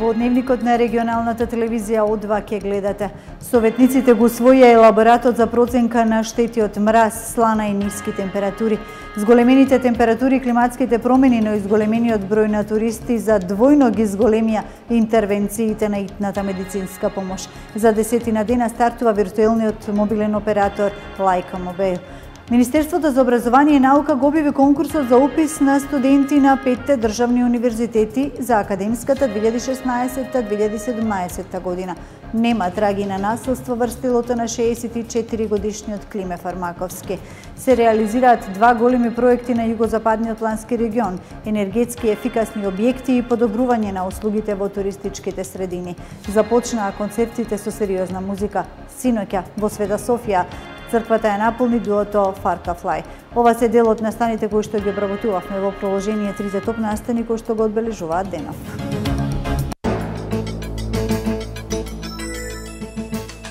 Во дневникот на регионалната телевизија О2 ќе гледате. Советниците го усвоија елаборатот за проценка на штети од мраз, слана и ниски температури. Зголемените температури и климатските промени, но изголемениот број на туристи за двојно ги зголемија интервенциите на итната медицинска помош. За 10 дена стартува виртуелниот мобилен оператор Лајка Мобил. Министерството за образование и наука го објави конкурсот за упис на студенти на 5 државни универзитети за академската 2016-2017 година. Нема траги на насилство врз телото на 64 годишниот Климе Фармаковски. Се реализираат два големи проекти на југозападниот плански регион, енергетски ефикасни објекти и подобрување на услугите во туристичките средини. Започнаа концертите со сериозна музика. Синоќа во Света Софија црквата ја наполни дуото Фарка Флај. Ова се дел од настаните кои што ги обработувавме во проложение трите топ настани кои што го одбележуваат денов.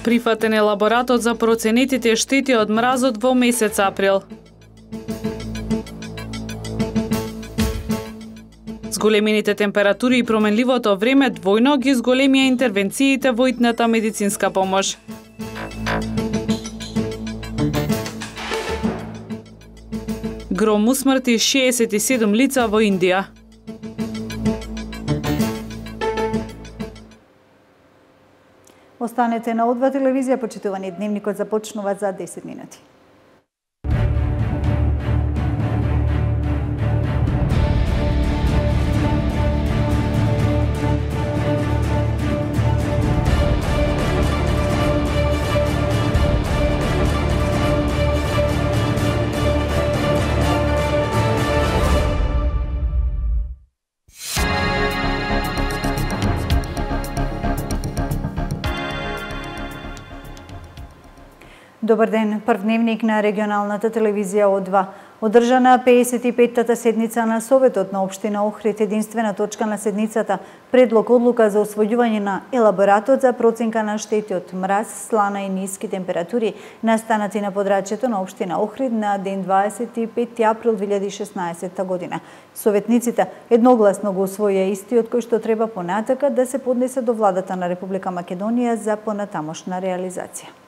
Прифатен елаборатот за проценетите штети од мразот во месец април. Зголемените температури и променливото време двојно ги зголемија интервенциите во итната медицинска помош. Гром усмрти 67 лица во Индија. Останете на О2 телевизија, почитувани, дневникот започнува за 10 минути. Добар ден, прв дневник на регионалната телевизија О2. Одржана 55-та седница на Советот на општина Охрид, единствена точка на седницата, предлог одлука за усвојување на елаборатот за проценка на штети од мраз, слана и ниски температури настанати на подрачјето на општина Охрид на ден 25 април 2016 година. Советниците едногласно го усвоија истиот кој што треба понатака да се поднесе до владата на Република Македонија за понатамошна реализација.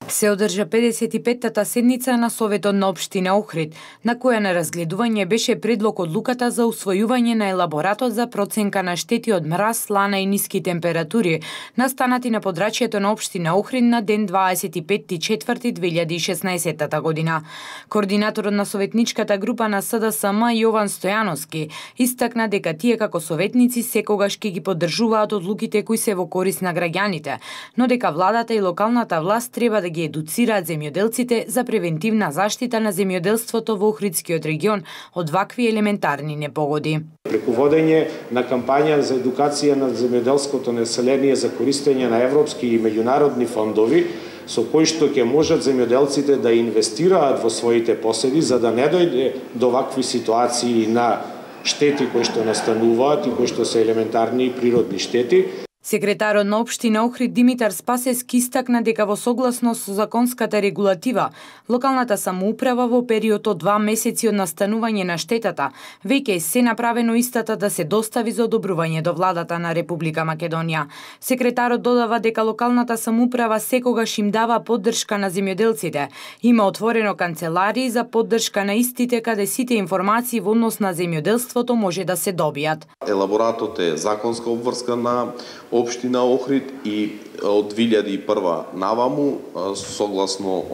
Се одржа 55-та седница на Советот на општина Охрид, на која на разгледување беше предлог одлуката за усвојување на елаборатот за проценка на штети од мраз, слана и ниски температури, настанати на подрачјето на општина Охрид на ден 25.4.2016 година. Координаторот на советничката група на СДСМ Јован Стојановски истакна дека тие како советници секогаш ќе ги поддржуваат одлуките кои се во корист на граѓаните, но дека владата и локалната власт треба да ги едуцираат земјоделците за превентивна заштита на земјоделството во Охридскиот регион од вакви елементарни непогоди. Преку водење на кампања за едукација на земјоделското население за користење на европски и меѓународни фондови, со кои што ќе можат земјоделците да инвестираат во своите поседи за да не дојде до вакви ситуации на штети кои што настануваат и кои што се елементарни и природни штети. Секретарот на општина Охрид Димитар Спасевски истакна дека во согласност со законската регулатива, локалната самоуправа во период од 2 месеци од настанување на штетата веќе се направено истата да се достави за одобрување до владата на Република Македонија. Секретарот додава дека локалната самоуправа секогаш им дава поддршка на земјоделците. Има отворено канцеларии за поддршка на истите каде сите информации во однос на земјоделството може да се добијат. Елаборатот е законска обврска на општина Охрид и од 2001 наваму, согласно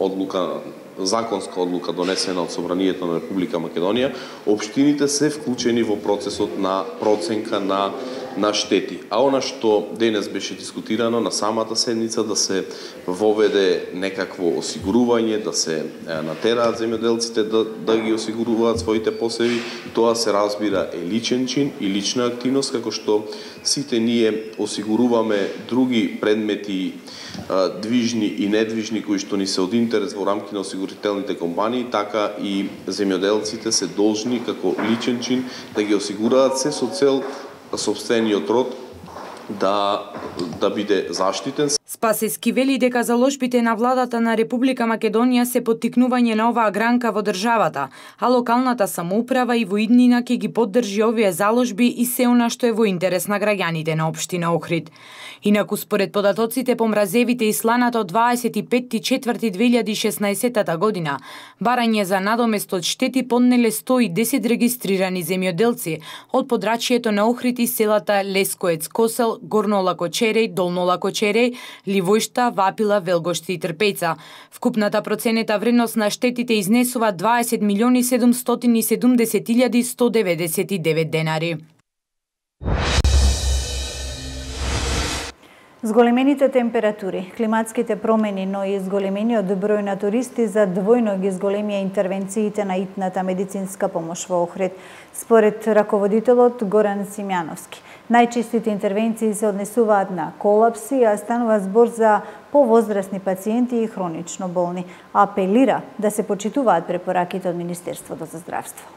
законска одлука донесена од Собранието на Република Македонија, општините се вклучени во процесот на проценка на штети. А она што денес беше дискутирано на самата седница да се воведе некакво осигурување, да се натераат земјоделците да ги осигуруваат своите посеви, тоа се разбира е личен чин и лична активност, како што сите ние осигуруваме други предмети движни и недвижни кои што ни се од интерес во рамки на осигурителните компании, така и земјоделците се должни како личен чин да ги осигураат се со цел собствениот род да биде заштитен. Спасески вели дека заложбите на владата на Република Македонија се поттикнување на оваа гранка во државата, а локалната самоуправа и во иднина ќе ги поддржи овие заложби и се она што е во интерес на граѓаните на општина Охрид. Инаку според податоците по мразевите и сланата од 25.4.2016 година, барање за надомест од штети поднеле 110 регистрирани земјоделци од подрачјето на Охрид и селата Лескоец, Косел, Горно Лакочереј, Долно Лакочереј, Ливојшта, Вапила, Велгошти и Трпејца. Вкупната проценета вредност на штетите изнесува 20.770.199 денари. Зголемените температури, климатските промени, но и зголемениот број на туристи за двојно ги зголемија интервенциите на итната медицинска помош во Охрид, според раководителот Горан Симјановски. Најчестите интервенции се однесуваат на колапси, а станува збор за повозрасни пациенти и хронично болни. Апелира да се почитуваат препораките од Министерството за здравство.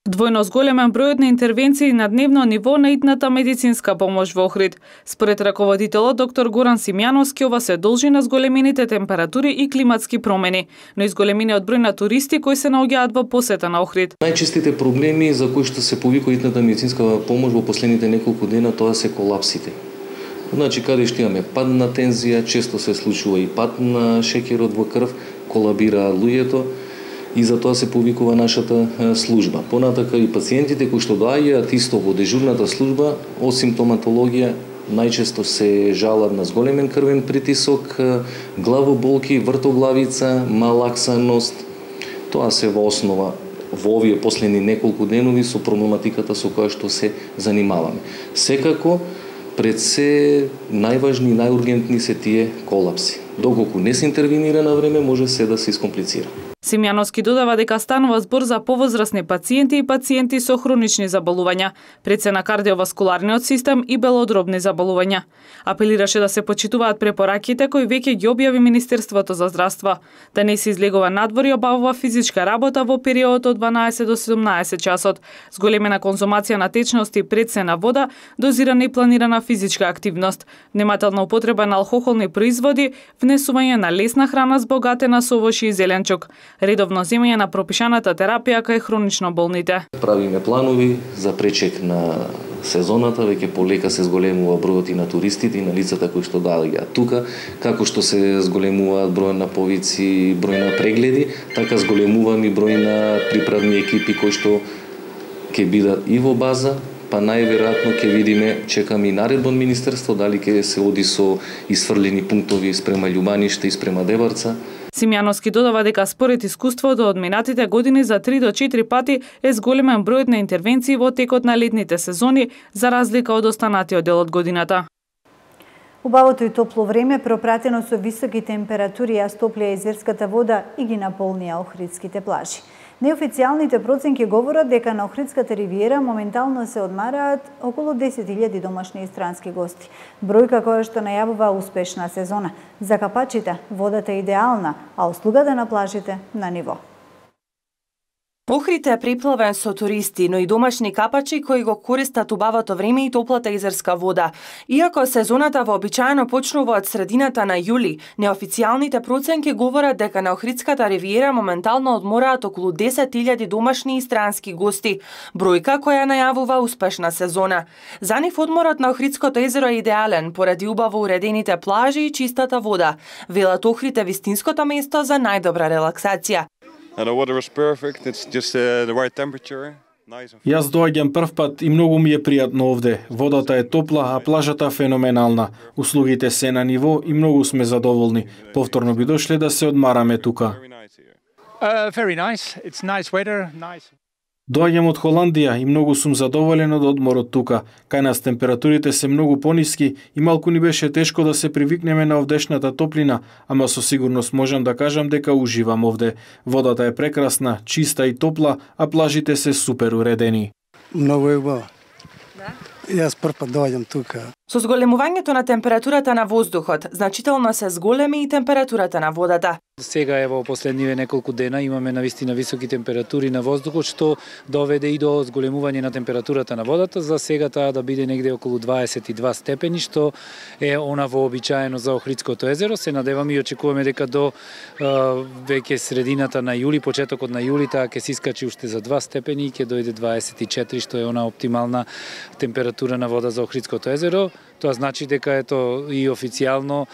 Двојно зголемен бројот на интервенции на дневно ниво на итната медицинска помош во Охрид. Според раководителот доктор Горан Симјановски, ова се должи на зголемените температури и климатски промени, но и зголемениот број на туристи кои се наоѓаат во посета на Охрид. Најчестите проблеми за кои што се повикува итната медицинска помош во последните неколку дена, тоа се колапсите. Значи, каде што имаме пад на тензија, често се случува и пад на шеќерот во крв, колабира луѓето, и за тоа се повикува нашата служба. Понатака и пациентите кои што доаѓаат исто во дежурната служба, осим симптоматологија, најчесто се жалат на зголемен крвен притисок, главоболки, вртоглавица, малаксаност. Тоа се во основа во овие последни неколку денови со проблематиката со која што се занимаваме. Секако, пред се најважни и најургентни се тие колапси. Доколку не се интервенира на време, може се да се искомплицира. Симјановски додава дека станува збор за повозрасни пациенти и пациенти со хронични заболувања, пред се на кардиоваскуларниот систем и белодробни заболувања. Апелираше да се почитуваат препораките кои веќе ги објави Министерството за здравство, да не се излегува надвор и обавува физичка работа во период од 12 до 17 часот, зголемена конзумација на течности пред се на вода, дозирана и планирана физичка активност, внимателна употреба на алкохолни производи, внесување на лесна храна збогатена со овошје и зеленчук, редовно земање на пропишаната терапија кај хронично болните. Правиме планови за пречек на сезоната, веќе полека се зголемува бројот и на туристите и на лицата кои што доаѓаат тука, како што се зголемуваат број на повици, број на прегледи, така зголемуваме и број на приправни екипи кои што ќе бидат и во база, па најверојатно ќе видиме, чекаме и наредба од Министерство, дали ќе се оди со исфрлени пунктови спрема Љубаниште и спрема Деварца. Симјановски додава дека според искуството од минатите години за 3 до 4 пати е зголемен бројот на интервенции во текот на летните сезони, за разлика од останатиот дел од годината. Убавото и топло време, пропратено со високи температури, ја стоплија изверската вода и ги наполнија охридските плажи. Неофицијалните проценки говорат дека на Охридската ривиера моментално се одмараат околу 10.000 домашни и странски гости. Бројка која што најавува успешна сезона. За капачите водата е идеална, а услугата на плажите на ниво. Охрид е преплавен со туристи, но и домашни капачи кои го користат убавото време и топлата изерска вода. Иако сезоната вообичаено почнува од средината на јули, неофицијалните проценки говорат дека на Охридската ривиера моментално одмораат околу 10.000 домашни и странски гости, бројка која најавува успешна сезона. За нив одморот на Охридското езеро е идеален поради убаво уредените плажи и чистата вода. Велат Охрид е вистинското место за најдобра релаксација. The water is perfect. It's just the right temperature. Јас доаѓам прв пат и многу ми е пријатно овде. Водата е топла, а плажата феноменална. Услугите се на ниво и многу сме задоволни. Повторно би дошле да се одмараме тука. Very nice. It's nice weather, nice. Доаѓам од Холандија и многу сум задоволен од одморот тука. Кај нас температурите се многу пониски и малку ни беше тешко да се привикнеме на овдешната топлина, ама со сигурност можам да кажам дека уживам овде. Водата е прекрасна, чиста и топла, а плажите се супер уредени. Многу е убаво. Да? Јас прв пат доаѓам тука. Со зголемувањето на температурата на воздухот, значително се зголеми и температурата на водата. Сега во последниве неколку дена имаме навистина високи температури на воздухот, што доведе и до зголемување на температурата на водата. За сега таа да биде негде околу 22 степени, што е она вообичаено за Охридското езеро. Се надеваме и очекуваме дека до веќе средината на јули, почетокот на јули, таа ќе се искачи уште за 2 степени и ќе дојде 24, што е она оптимална температура на вода за Охридското езеро. Тоа значи дека ето и официјално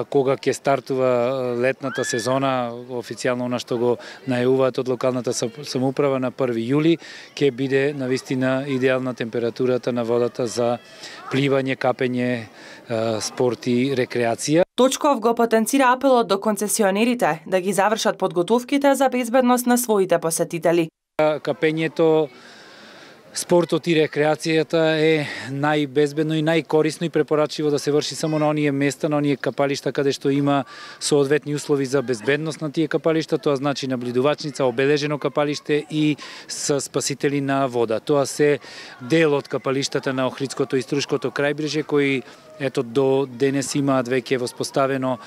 кога ќе стартува летната сезона, официјално она што го најавуваат од локалната самоуправа на 1 јули, ќе биде навистина идеална температурата на водата за пливање, капење, спорт и рекреација. Точков го потенцира апелот до концесионерите да ги завршат подготовките за безбедност на своите посетители. Капењето, спортот и рекреацијата е најбезбедно и најкорисно и препорачливо да се врши само на оние места, на оние капалишта каде што има соодветни услови за безбедност на тие капалишта, тоа значи наблюдувачница, обележено капалиште и со спасители на вода. Тоа се дел од капалиштата на Охридското и Струшкото крајбрежје кои ето до денес имаат веќе воспоставено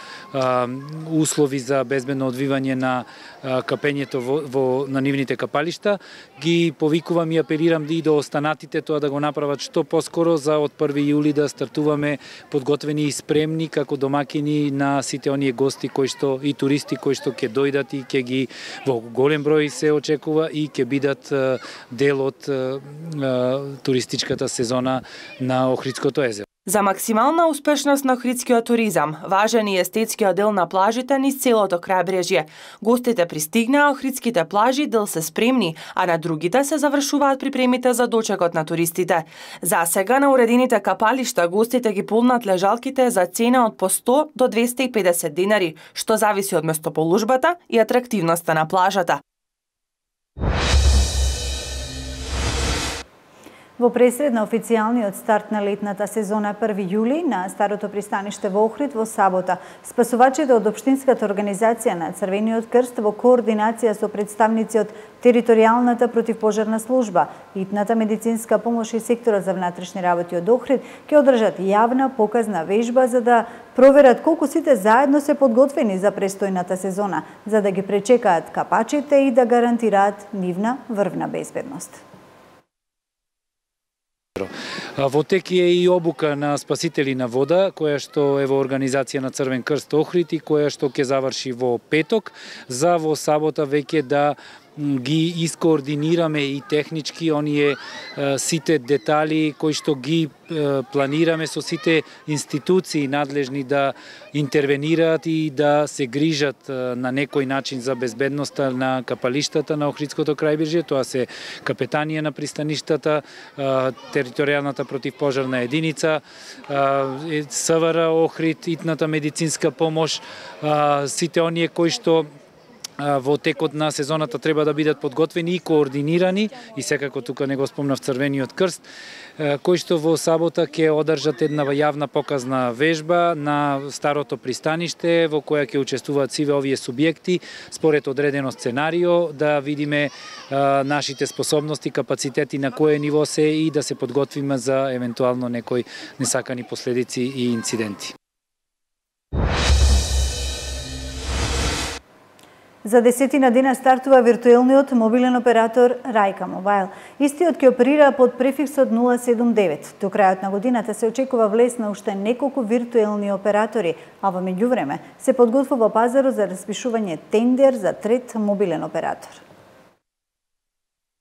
услови за безбедно одвивање на капењето на нивните капалишта. Ги повикувам и апелирам и до останатите тоа да го направат што поскоро за од 1 јули да стартуваме подготвени и спремни како домакини на сите оние гости кои што и туристи кои што ќе дојдат и ќе ги во голем број се очекува и ќе бидат дел од туристичката сезона на Охридското езеро. За максимална успешност на охридскиот туризам, важен и естетскиот дел на плажите низ целото крајбрежје. Гостите пристигнаа, охридските плажи дел се спремни, а на другите се завршуваат припремите за дочекот на туристите. За сега на уредените капалишта гостите ги полнат лежалките за цена од по 100 до 250 денари, што зависи од местоположбата и атрактивноста на плажата. Во пресред на официјалниот старт на летната сезона 1 јули на старото пристаниште во Охрид во сабота, спасувачите од Општинската организација на Црвениот крст во координација со представници од Територијалната противпожарна служба, итната медицинска помош и секторот за внатрешни работи од Охрид ќе одржат јавна показна вежба за да проверат колку сите заедно се подготвени за престојната сезона, за да ги пречекаат капачите и да гарантираат нивна врвна безбедност. Во тек е и обука на спасители на вода, која што е во организација на Црвен крст Охрид и која што ќе заврши во петок, за во сабота веќе да ги искоординираме и технички оние сите детали кои што ги планираме со сите институции надлежни да интервенираат и да се грижат на некој начин за безбедноста на капалиштата на Охридското крајбрежје. Тоа се капетанија на пристаништата, територијалната противпожарна единица, СВР Охрид, итната медицинска помош, сите оние кои што во текот на сезоната треба да бидат подготвени и координирани, и секако тука не го спомнав Црвениот крст, кои што во сабота ќе одржат една јавна показна вежба на старото пристаниште во која ќе учествуваат сиве овие субјекти според одредено сценарио, да видиме нашите способности, капацитети на кое ниво се и да се подготвиме за евентуално некои несакани последици и инциденти. За 10 дена стартува виртуелниот мобилен оператор Рајка Мобайл. Истиот ќе оперира под префиксот 079. До крајот на годината се очекува влез на уште неколку виртуелни оператори, а во меѓувреме се подготвува пазарот за распишување тендер за трет мобилен оператор.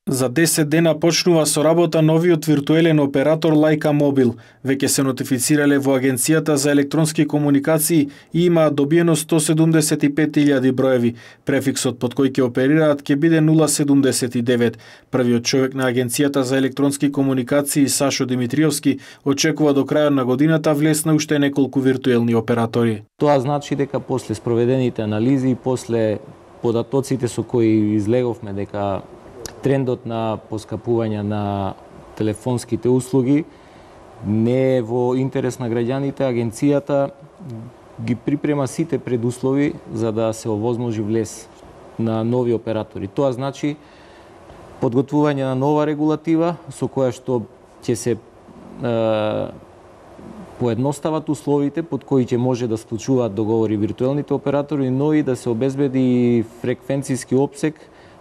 За 10 дена почнува со работа новиот виртуелен оператор Лајка Мобил. Веќе се нотифицирале во Агенцијата за електронски комуникации и имаат добиено 175.000 броеви. Префиксот под кој ќе оперираат ќе биде 079. Првиот човек на Агенцијата за електронски комуникации Сашо Димитриевски очекува до крајот на годината влез на уште неколку виртуелни оператори. Тоа значи дека после спроведените анализи и после податоците со кои излеговме дека трендот на поскапување на телефонските услуги не е во интерес на граѓаните, агенцијата ги припрема сите предуслови за да се овозможи влез на нови оператори. Тоа значи подготвување на нова регулатива со која што ќе се поедностават условите под кои ќе може да склучуваат договори виртуелните оператори, но и да се обезбеди фреквенцијски опсег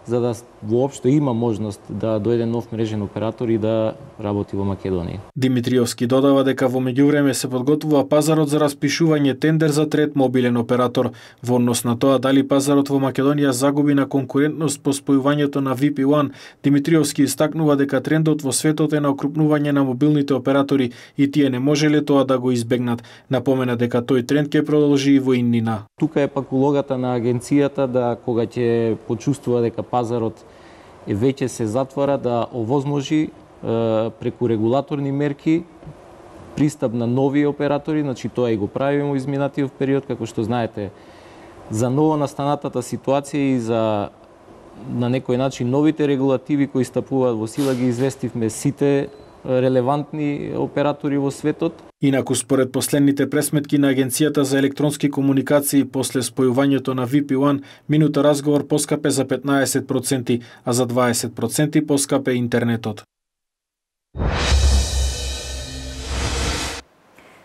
за да воопшто има можност да дојде нов мрежен оператор и да работи во Македонија. Димитриовски додава дека во меѓувреме се подготвува пазарот за распишување тендер за трет мобилен оператор. Во однос на тоа дали пазарот во Македонија загуби на конкурентност по спојувањето на VP1, Димитриовски истакнува дека трендот во светот е на окрупнување на мобилните оператори и тие не можеле тоа да го избегнат. Напомена дека тој тренд ќе продолжи и во иднина. Тука е пак улогата на агенцијата да кога ќе почувствува дека пазарот веќе се затвора да овозможи преку регулаторни мерки пристап на нови оператори, значи тоа и го правиме во изминатиот период, како што знаете, за ново настанатата ситуација и за на некој начин новите регулативи кои стапуваат во сила ги известивме сите релевантни оператори во светот. Инаку, според последните пресметки на Агенцијата за електронски комуникации после спојувањето на VP1, минута разговор поскапе за 15%, а за 20% поскапе интернетот.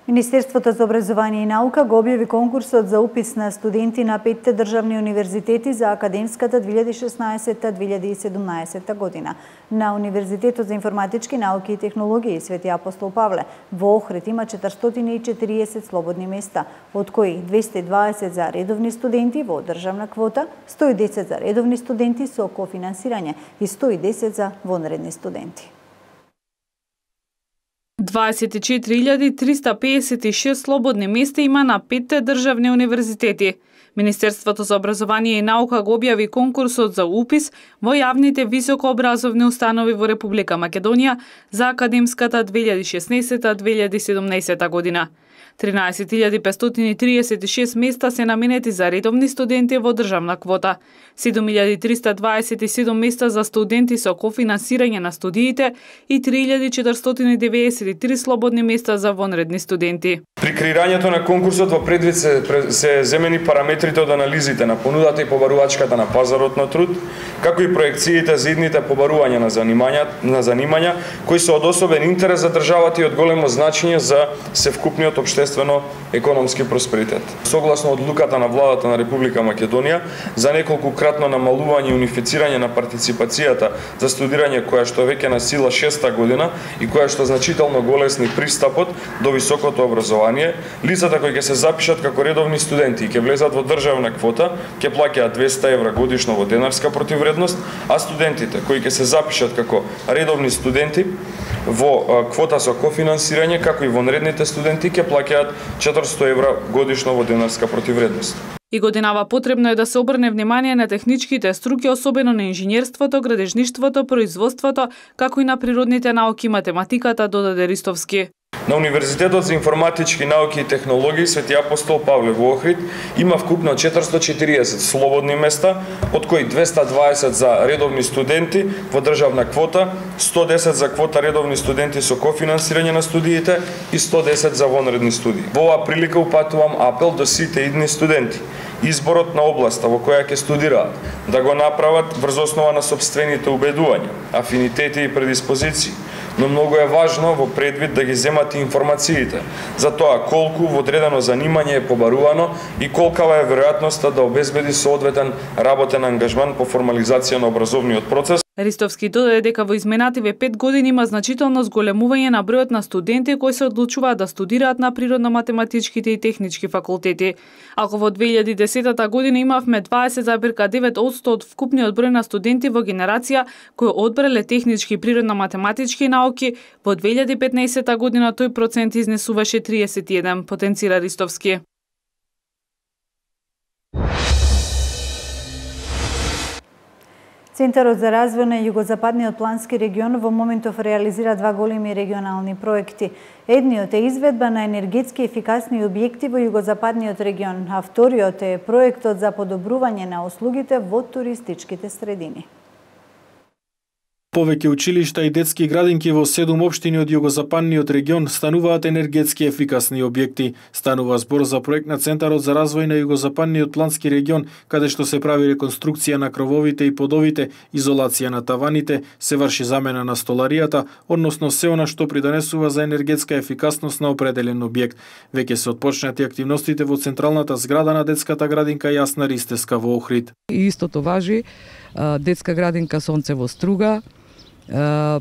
Министерството за образование и наука го објави конкурсот за упис на студенти на 5 државни универзитети за академската 2016-2017 година. На Универзитетот за информатички науки и технологии Свети Апостол Павле во Охрид има 440 слободни места, од кои 220 за редовни студенти во државна квота, 110 за редовни студенти со кофинансирање и 110 за вонредни студенти. 24.356 слободни места има на 5 државни универзитети. Министерството за образование и наука го објави конкурсот за упис во јавните високообразовни установи во Република Македонија за академската 2016-2017 година. 13.536 места се наменети за редовни студенти во државна квота, 7.327 места за студенти со кофинансирање на студиите и 3.493 слободни места за вонредни студенти. При креирањето на конкурсот во предвид се земени параметрите од анализите на понудата и побарувачката на пазарот на труд, како и проекциите за идните побарувања на занимања кои се од особен интерес за државата и од големо значење за севкупниот општествено-економски просперитет. Согласно одлуката на владата на Република Македонија за неколкукратно намалување и унифицирање на партиципацијата за студирање која што веќе на сила 6-та година и која што значително го олесни пристапот до високото образование, лицата кои ќе се запишат како редовни студенти и ќе влезат во државна квота ќе плаќаат 200 евра годишно во денарска противвредност, а студентите кои ќе се запишат како редовни студенти во квота со кофинансирање, како и вонредните студенти ќе плаќаат 400 евра годишно во денарска противвредност. И годинава потребно е да се обрне внимание на техничките струки, особено на инженерството, градежништвото, производството, како и на природните науки и математиката, додаде Ристовски. На Универзитетот за информатички науки и технологии Свети Апостол Павле во Охрид има вкупно 440 слободни места, од кои 220 за редовни студенти во државна квота, 110 за квота редовни студенти со кофинансирање на студиите и 110 за вонредни студии. Во оваа прилика упатувам апел до сите идни студенти. Изборот на областа во која ќе студираат да го направат врз основа на сопствените убедувања, афинитети и предиспозиции, но многу е важно во предвид да ги земат информациите за тоа колку во одредено занимање е побарувано и колкава е веројатноста да обезбеди соодветен работен ангажман по формализација на образовниот процес. Ристовски додаде дека во изминативе 5 години има значително зголемување на бројот на студенти кои се одлучуваат да студираат на природно-математичките и технички факултети. Ако во 2010 година имавме 20,9% од вкупниот број на студенти во генерација кои одбрале технички и природно-математички науки, во 2015 година тој процент изнесуваше 31, потенцира Ристовски. Центарот за развој на југозападниот плански регион во моментов реализира два големи регионални проекти. Едниот е изведба на енергетски ефикасни објекти во југозападниот регион, а вториот е проектот за подобрување на услугите во туристичките средини. Повеќе училишта и детски градинки во 7 општини од југозападниот регион стануваат енергетски ефикасни објекти. Станува збор за проект на Центарот за развој на југозападниот плански регион, каде што се прави реконструкција на крововите и подовите, изолација на таваните, се врши замена на столаријата, односно се она што придонесува за енергетска ефикасност на определен објект. Веќе се отпочнати активностите во централната зграда на детската градинка Јасна Ристеска во Охрид. И истото важи детска градинка Сонце во Струга,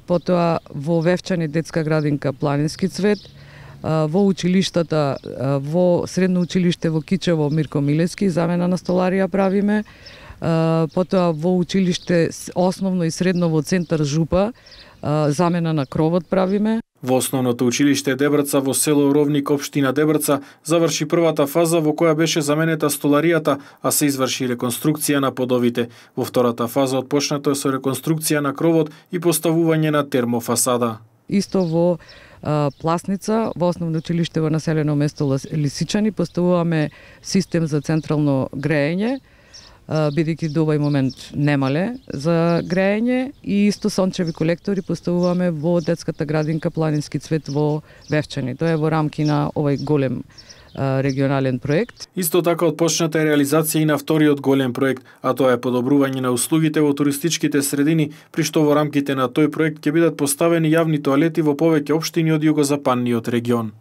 потоа во Вевчани детска градинка Планински цвет, во училиштата, во средно училиште во Кичево Мирко Милевски замена на столарија правиме, потоа во училиште основно и средно во центар Жупа замена на кровот правиме. Во основното училиште Дебрца во село Ровник, општина Дебрца, заврши првата фаза во која беше заменета столаријата, а се изврши реконструкција на подовите. Во втората фаза отпочнато е со реконструкција на кровот и поставување на термофасада. Исто во Пласница, во основно училиште во населено место Лисичани, поставуваме систем за централно греење, бидејќи до овој момент немале за греење, и исто сончеви колектори поставуваме во детската градинка Планински цвет во Вевчани. Тоа е во рамки на овој голем регионален проект. Исто така отпочната е реализација и на вториот голем проект, а тоа е подобрување на услугите во туристичките средини, при што во рамките на тој проект ќе бидат поставени јавни тоалети во повеќе општини од југозападниот регион.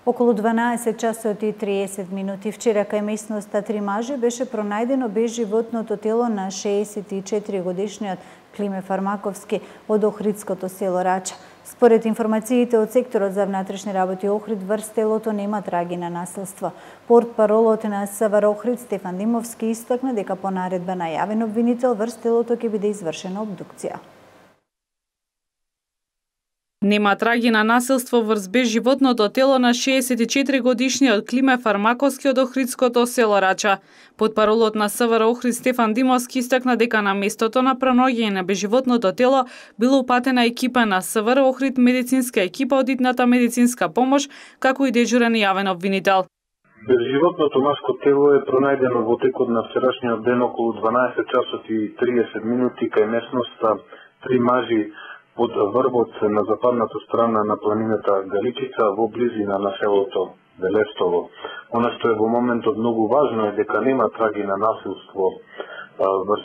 Околу 12 часот и 30 минути вчера кај местноста Три мажи беше пронајдено безживотното тело на 64 годишниот Климе Фармаковски од Охридското село Рача. Според информациите од секторот за внатрешни работи Охрид, врз телото нема траги на насилство. Портпаролот на СВР Охрид Стефан Димовски истакна дека по наредба на јавен обвинител врз телото ќе биде извршена обдукција. Нема траги на насилство врз безживотното тело на 64 годишниот Климе Фармаковски од Охридското село Рача. Потпаролот на СВР Охрид Стефан Димовски истакна дека на местото на пронаоѓање на безживотното тело била упатена екипа на СВР Охрид, медицинска екипа од итната медицинска помош, како и дежурен јавен обвинител. Безживотното маско тело е пронајдено во текот на вчерашниот ден околу 12 часот и 30 минути кај местноста Три мажи од врвот на западната страна на планината Галичица во близина на селото Белестово. Она што е во моментот многу важно е дека нема траги на насилство врз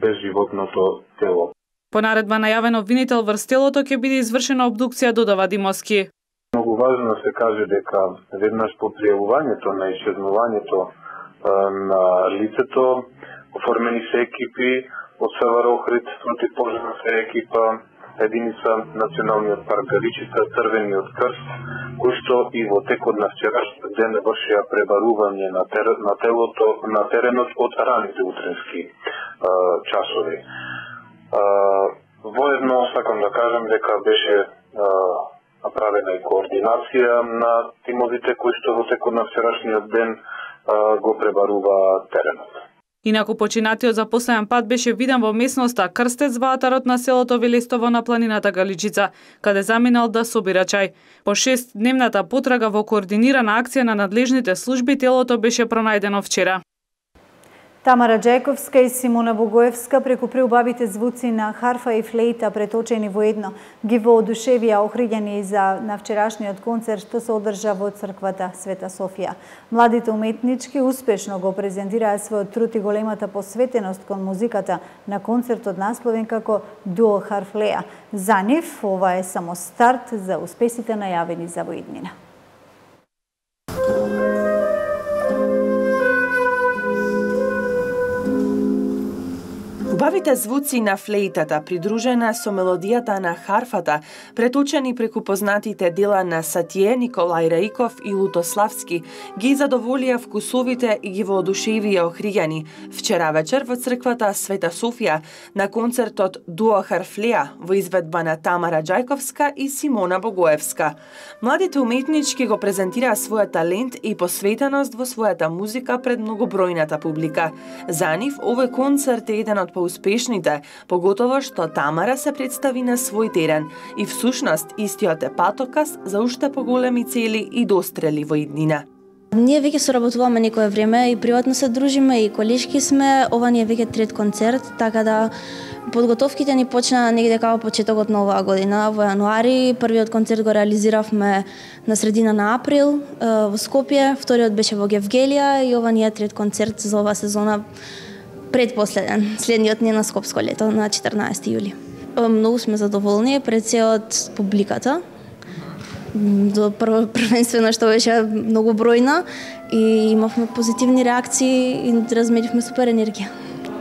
безживотното тело. По наредба на јавен обвинител врз телото ќе биде извршена обдукција, додава Димовски. Многу важно да се каже дека веднаш по пријавувањето на исчезнувањето на лицето оформени се екипи од СВР Охрид, противпожарна се екипа, единица Националниот парк Галичица, Црвениот крст, кои што и во текот на вчерашниот ден вршија пребарување на телото на теренот од раните утренски часови. Воедно сакам да кажам дека беше направена и координација на тимовите кои што во текот на вчерашниот ден го пребарува теренот. Инаку починатиот за последен пат беше виден во местноста Крстец во атарот на селото Велестово на планината Галичица, каде заминал да собира чај. По 6-дневната потрага во координирана акција на надлежните служби телото беше пронајдено вчера. Тамара Ѓајковска и Симона Богоевска преку преубавите звуци на харфа и флейта преточени во едно ги воодушевија охриѓани на вчерашниот концерт што се одржа во црквата Света Софија. Младите уметнички успешно го презентираа својот труд и големата посветеност кон музиката на концертот насловен како Дуо Харфлеја. За нив ова е само старт за успесите најавени за воиднина. Убавите звуци на флейтата, придружена со мелодијата на харфата, преточени преку познатите дела на Сатие, Николај Раиков и Лутославски, ги задоволија вкусовите и ги воодушевија охриѓани вчера вечер во црквата Света Софија на концертот Дуо Харфлеја во изведба на Тамара Ѓајковска и Симона Богоевска. Младите уметнички го презентираа својот талент и посветеност во својата музика пред многобројната публика. За нив овој концерт е еден од успешните, поготово што Тамара се представи на свој терен и всушност истиот е патоказ за уште поголеми цели и дострели во иднина. Ние веќе соработуваме некое време и приватно се дружиме и колешки сме. Ова ни е веќе трет концерт, така да подготовките ни почна негде као почетокот на оваа година, во јануари. Првиот концерт го реализиравме на средина на април во Скопје, вториот беше во Гевгелија и ова ни е трет концерт за оваа сезона, предпоследен. Следниот ни е на Скопско лето на 14 јули. Многу сме задоволни пред се од публиката. Првенствено што беше многу бројна и имавме позитивни реакции и разменивме супер енергија.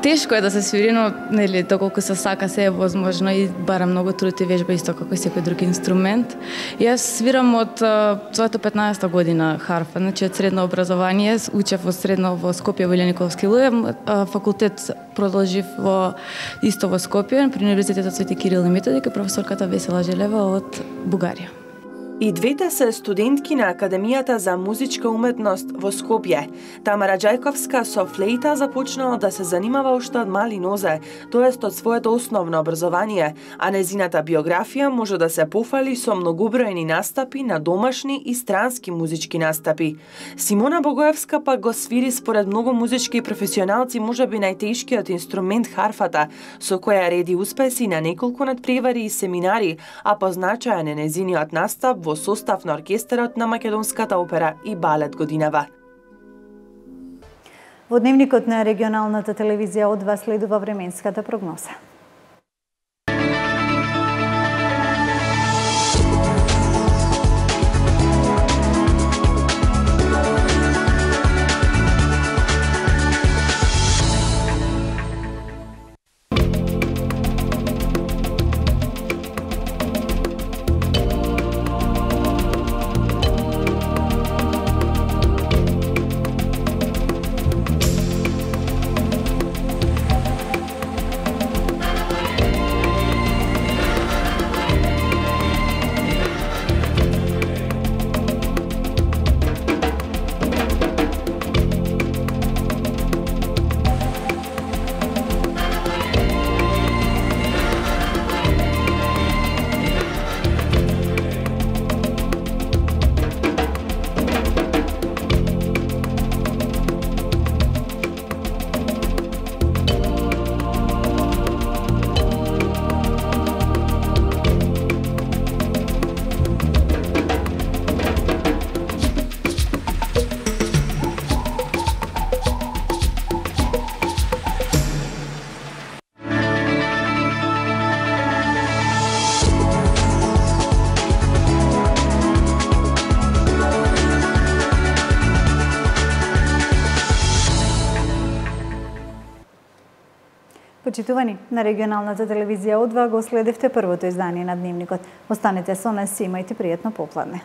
Тешко е да се свири, но нели доколку се сака се е возможно и бара многу труд и вежба исто како и секој друг инструмент. Јас свирам од својата 15-та година харфа, значи од средно образование, учев во средно во Скопје во Илија Николовски Луев, факултет продолжив исто во Скопје при Универзитетот Свети Кирил и Методи, кај професорката Весела Желева од Бугарија. И двете се студентки на Академијата за музичка уметност во Скопје. Тамара Ѓајковска со флејта започнала да се занимава уште од мали нозе, тоест од своето основно образование, а незината биографија може да се пофали со многобројни настапи на домашни и странски музички настапи. Симона Богоевска пак го свири според многу музички професионалци можеби најтешкиот инструмент харфата, со која реди успеси на неколку надпревари и семинари, а позначаен е незиниот настап во состав на оркестарот на Македонската опера и балет годинава. Во дневникот на регионалната телевизија од вас следува временската прогноза. Почитувани, на регионалната телевизија од 2 го следевте првото издание на Дневникот. Останете со нас и имајте пријатно попладне.